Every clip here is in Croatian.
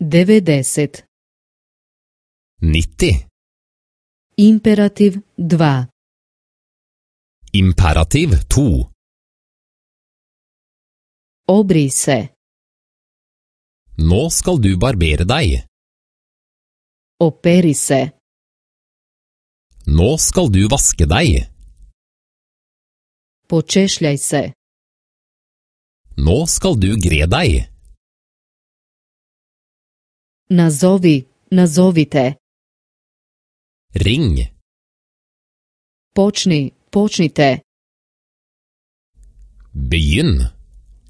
90. 90. Imperativ 2. Imperativ 2. Obrij se. Nå skal du barbere deg. Operi se. Nå skal du vaske deg. Počešljaj se. Nå skal du gre deg. Nazovi, nazovite. Ring. Počni, počnite. Begynn.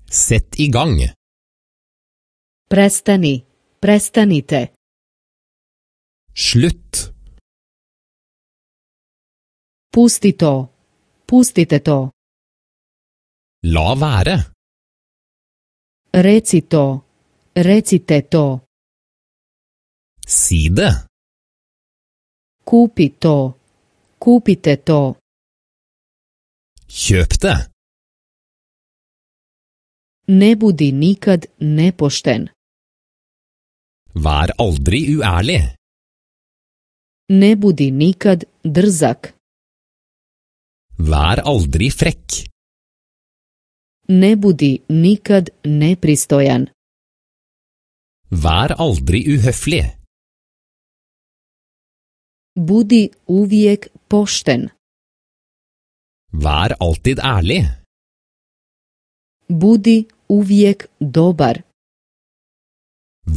Sett i gang. Prestani, prestanite. Slutt. Pusti to, pustite to. La være. Reci to, recite to. Si det. Kupi to, kupite to. Kjøp det. Ne budi nikad nepošten. Vær aldri uærlig. Ne budi nikad drzak. Vær aldri frekk. Ne budi nikad nepristojan. Vær aldri uhøflig. Budi uvijek pošten. Vær alltid ærlig. Budi uvijek dobar.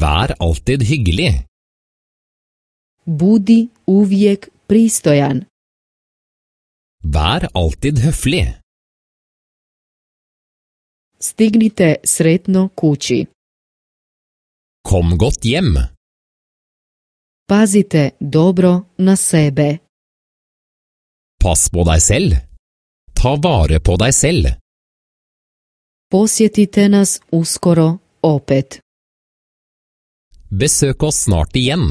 Vær alltid hyggelig. Budi uvijek pristojan. Vær alltid høflig. Stignite sretno kući. Kom godt hjem. Pazite dobro na sebe. Pass på deg selv. Ta vare på deg selv. Posjetite nas uskoro opet. Besøk oss snart igjen.